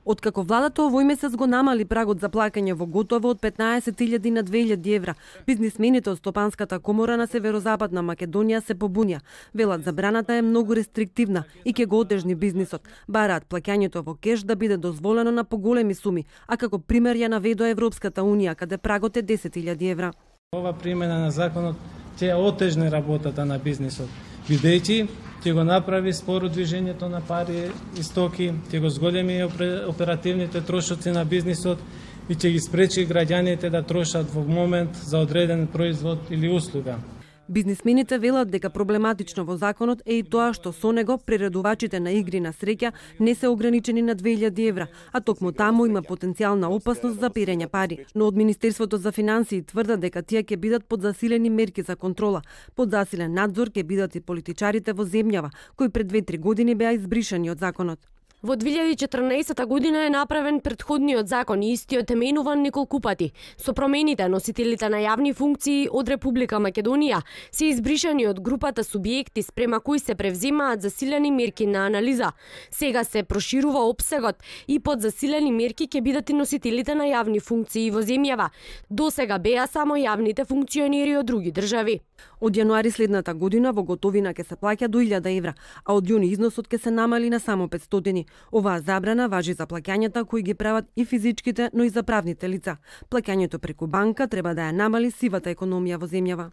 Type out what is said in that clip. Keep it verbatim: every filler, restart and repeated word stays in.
Откако владата овој месец го намали прагот за плаќање во готово од петнаесет илјади на две илјади евра, бизнисмените од Стопанската комора на Северозападна Македонија се побунија. Велат забраната е многу рестриктивна и ќе го отежни бизнисот. Бараат плаќањето во кеш да биде дозволено на поголеми суми, а како пример ја наведоа Европската унија, каде прагот е десет илјади евра. Ова примена на законот ќе отежни работата на бизнисот, бидејќи ќе го направи споро движењето на пари и стоки, ќе го зголеми оперативните трошоци на бизнисот и ќе ги спречи граѓаните да трошат во момент за одреден производ или услуга. Бизнисмените велат дека проблематично во законот е и тоа што со него приредувачите на игри на среќа не се ограничени на две илјади евра, а токму таму има потенцијална опасност за перење пари. Но од Министерството за финансии тврдат дека тие ќе бидат под засилени мерки за контрола. Под засилен надзор ќе бидат и политичарите во земјава, кои пред две-три години беа избришани од законот. Во две илјади и четрнаесетта година е направен претходниот закон и истиот е менуван неколку пати. Со промените, носителите на јавни функции од Република Македонија се избришани од групата субјекти спрема кои се превземаат засилени мерки на анализа. Сега се проширува опсегот и под засилени мерки ќе бидат и носителите на јавни функции во земјава. Досега беа само јавните функционери од други држави. Од јануари следната година во готовина ќе се плаќа до илјада евра, а од јуни износот ќе се намали на само петстотини. Оваа забрана важи за плаќањата кои ги прават и физичките, но и за правните лица. Плаќањето преку банка треба да ја намали сивата економија во земјава.